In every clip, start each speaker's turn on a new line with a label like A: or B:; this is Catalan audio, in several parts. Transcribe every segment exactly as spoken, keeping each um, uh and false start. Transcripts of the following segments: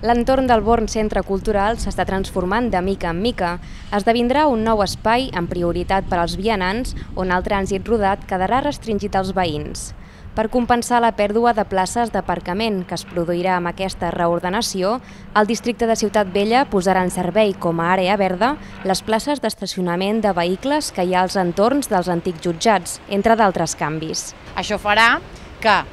A: L'entorn del Born Centre Cultural s'està transformant de mica en mica. Esdevindrà un nou espai amb prioritat per als vianants on el trànsit rodat quedarà restringit als veïns. Per compensar la pèrdua de places d'aparcament que es produirà amb aquesta reordenació, el districte de Ciutat Vella posarà en servei com a àrea verda les places d'estacionament de vehicles que hi ha als entorns dels antics jutjats, entre d'altres canvis.
B: Això farà que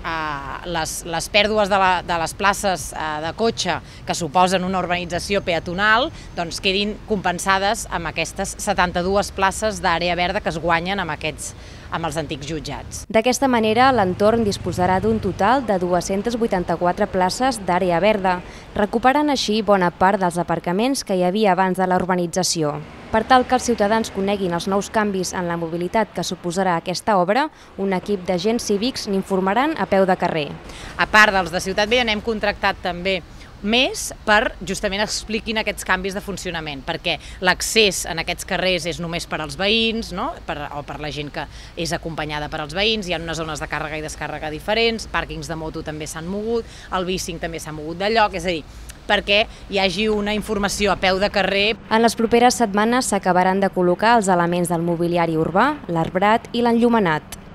B: Les, les pèrdues de, la, de les places de cotxe que suposen una urbanització peatonal doncs quedin compensades amb aquestes setanta-dues places d'àrea verda que es guanyen amb, aquests, amb els antics jutjats.
A: D'aquesta manera, l'entorn disposarà d'un total de dues-centes vuitanta-quatre places d'àrea verda, recuperant així bona part dels aparcaments que hi havia abans de la urbanització. Per tal que els ciutadans coneguin els nous canvis en la mobilitat que suposarà aquesta obra, un equip d'agents cívics n'informaran a peu de carrer.
B: A part dels de Ciutat Vella, n'hem contractat també més per justament expliquin aquests canvis de funcionament, perquè l'accés en aquests carrers és només per als veïns, no? per, o per la gent que és acompanyada per als veïns, hi ha unes zones de càrrega i descàrrega diferents, pàrquings de moto també s'han mogut, el bicing també s'ha mogut de lloc, és a dir, perquè hi hagi una informació a peu de carrer.
A: En les properes setmanes s'acabaran de col·locar els elements del mobiliari urbà, l'arbrat i l'enllumenat.